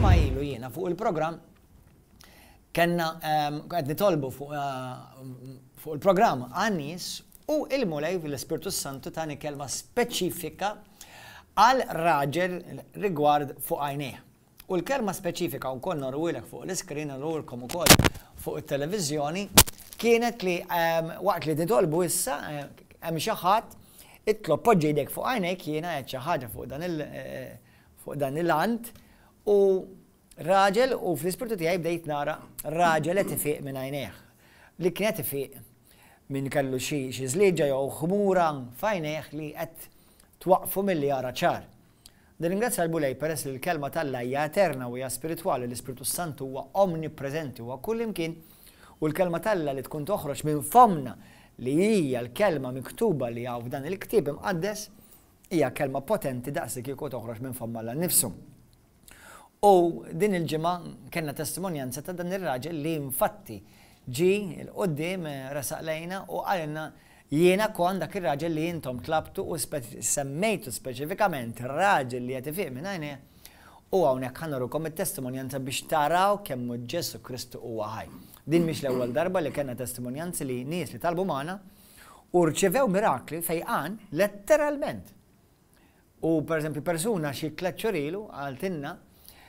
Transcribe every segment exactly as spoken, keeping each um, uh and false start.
Ġimgħa ilu jiena fuq il-programm kellna qed nitolbu fuq fuq il-programm għan-nies u il-Mulej fil-Ispirtu Santu tani kelma speċifika għal raġel rigward fuq għajnejh. U l-kelma speċifika wkoll noruhilek fuq l-iskrin u ukoll fuq it-televiżjoni kienet li waqt li nitolbu issa hemm xi ħadd itlob, poġġi jdek fuq għajnejk, jiena qed xi ħaġa fuq dan il fuq dan il-ant u raġel u fl-ispirtu tiegħi bdejt nara raġel qed ifiq minn għajnejh. Li kien qed ifiq minn kellu xi xi żlieġa jew ħmura f'għajnejh li qed twaqfu milli jara ċar. Nirringrazzja l-Mulej peress li l-kelma t'Alla hija eterna u hija spiritwali, l-Ispirtu Santu huwa omnipreżenti, huwa kullimkien, u l-kelma t'Alla li tkun toħroġ minn fomna li hija l-kelma miktuba li hawn f'dan il-ktieb imqaddes hija kelma potenti daqs li kieku toħroġ minn fomm Alla nnifsu. U din il-ġimgħa kellna testimonjanza ta' dan ir-raġel li infatti ġie 'l quddiem, resaq lejna u qalilna: jiena kont dak ir-raġel li intom tlabtu u semmejtu speċifikament raġel li qed ifiq minn għajnejh, u hawnhekk ħa nurukom it-testimonjanza biex taraw kemm Ġesù Kristu huwa ħaj. Din mhix l-ewwel darba li kellna testimonjanzi li nies li talbu magħna u rċevew mirakli, fejqan letteralment. U per eżempju persuna xi tliet xhur ilu qaltilna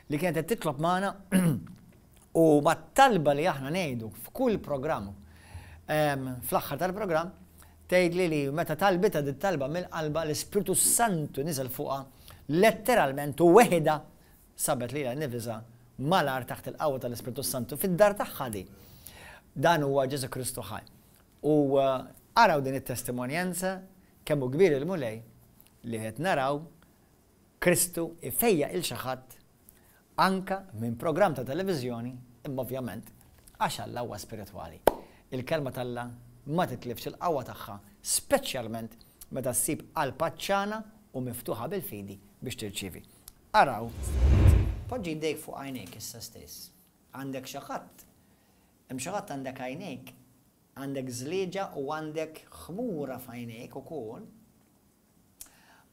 li kienet qed titlob magħna u mat-talba li aħna ngħidu f'kull programm, fl-aħħar tal-programm, tgħidli li meta talbitha dit talba mill-qalba l-Ispirtu Santu niżel fuqha letteralment u weħida sabet lilha nnifisha malar taħt il-qawwa tal-Ispirtu Santu fid-dar tagħha di. Dan huwa Ġesù Kristu ħaj. U araw din it-testimonjanza kemm hu kbir il-Mulej li qed naraw Kristu ifejjaq il xi ħadd anka minn programm ta' televiżjoni, imma ovvjament għax Alla huwa spiritwali. Il-kelma t'Alla ma titlifx il-qawwa tagħha, speċjalment meta ssib qalb għatxana u miftuħa bil-fidi biex tirċievi. Araw, poġġi jdejk fuq għajnejk issa stess. Għandek xi ħadd, hemm xi ħadd għandek għajnejk, għandek żlieġa u għandek ħmura f'għajnejk ukoll.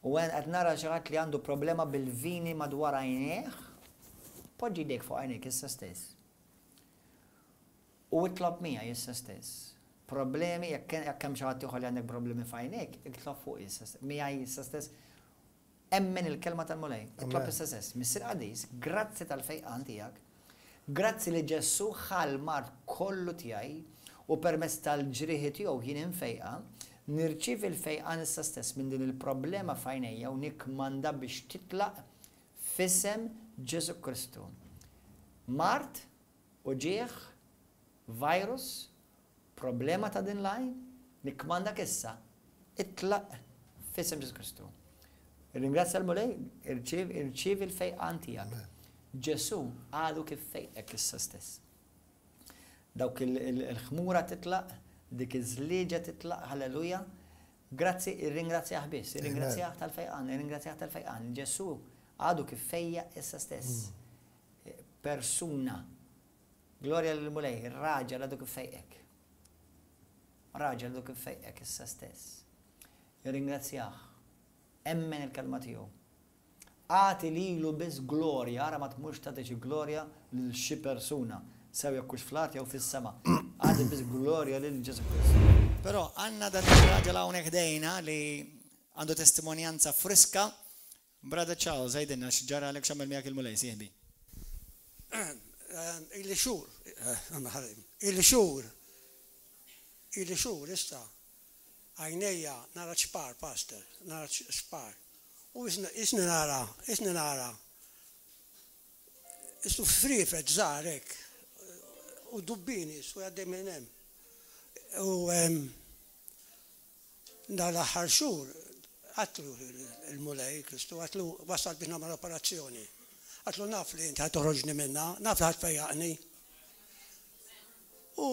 U qed nara xi ħadd li għandu problema bil-vini madwar għajnejh. Poġġi jdejk fuq għajnejk issa stess. U itlob miegħi issa stess. Problemi, jekk hemm xi ħadd ieħor li għandek problemi f'għajnejk, itlob fuq issa stess, miegħi issa stess. Emmen il-kelma tal-Mulej, itlob issa stess. Missier Qaddis, grazzi tal-fejqan tiegħek, grazzi li Ġesù ħa l-mard kollu tiegħi u permezz tal-ġrieħi tiegħu jien infejqa, nirċievi l-fejqan issa stess minn din il-problema f'għajnejja u nikkmanda biex titlaq f'isem Ġesù Kristu. Mard, uġigħ, virus, problema ta' din l-għajn, nikkmandak issa, itlaq f'isem Ġesù Kristu. Ringrazzja l-Mulej, irċievi l-fejqan tiegħek. Ġesù għadu kif fejqek issa stess. Dawk il-ħmura titlaq, dik iż-żlieġa titlaq, halleluja. Grazzi, irringrazzjah biss, irringrazzjah tal-fejqan, irringrazzjah tal-fejqan. Ġesù għadu kif fejjaq issa stess. Persuna. Glorja lill-Mulej, raġel għadu kif fejqek. Raġel għadu kif fejqek issa stess. Irringrazzjah. Emmen il-kelma tiegħu. Agħti lilu biss glorja, ara ma tmurx tagħti xi glorja lil xi persuna, sew jekk hux fl-art jew fis-sema. Agħti biss glorja lil Ġesù Kristu. Però għandna dan ir-raġel hawnhekk ħdejna li għandu testimonjanza friska. Brother Charles, għidilna x'ġara għalek, x'għamel miegħek il-Mulej, sieħbi. Ili xhur, ili xhur, ili xhur issa, għajnejja nara ċpar, pastor, nara ċpar. U isni nara, isni nara, isu frifet żgħar hekk, u dubbini, su għaddej minn hemm. U dal-aħħar xhur, għatlu il-Mulej Kristu, għatlu wasal biex nagħmel operazzjoni. Għatlu naf li inti ħa toħroġni minna, naf li ħa tfejjaqni. U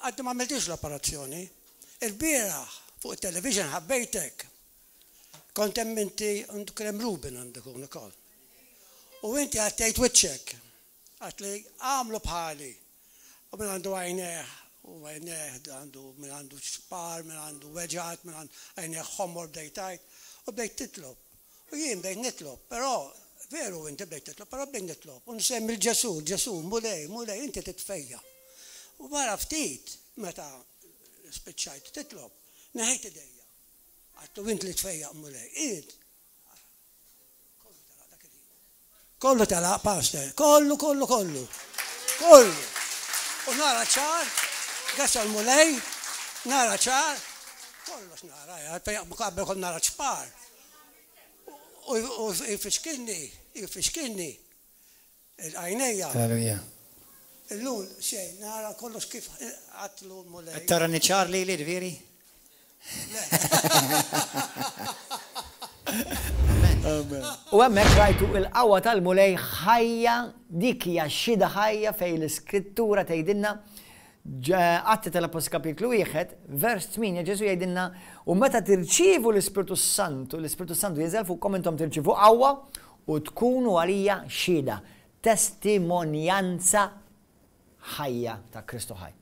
għaddi ma għamiltix l-operazzjoni. Il-bieraħ fuq il-television ħabbejtek. Kont hemm inti kien hemm Ruben għandek ukoll. U inti għattejt wiċċek. Għat li għamlu bħali. U minn għandu għajnejh, u għajnejh għandu minn għandu ċpar, minn għandu weġgħat, minn għandu għajnejh ħomor bdejt tgħid, u bdejt titlob. U jien bdejt nitlob, però Veru inti bdejt titlob, però bdejt nitlob. U nsemmi l-Ġesù, Ġesù, Mulej, Mulej, inti titfejjaq. U wara ftit, meta spiċċajt titlob, neħejt idejja. Għedtlu int li tfejjaq, Mulej, int. Kollu telaq dak il-ħin. Kollu telaq, pastor, kollu, kollu, kollu. Kollu. U nara ċar, grazzi għall-Mulej, nara ċar, kollox nara, qabel kont nara ċpar. U jfixkilni, jfixkilni, il-għajnejja. Alleluja. Illum xejn, nara kollox kif għedtlu Mulej. Tara ċar li li veri? Le. U hemmhekk rajtu il-qawwa tal-Mulej ħajja, dik hija xhieda ħajja fejn l-Iskrittura tgħidilna Atti tal-Appostli kapitlu wieħed, vers tmienja, Ġesu jgħidilna u meta tirċievu l-Ispirtu Santu, l-Ispirtu Santu jinżel fuqkom, intom tirċievu qawwa u tkunu għalija xhieda, testimonjanza ħajja ta' Kristu ħaj.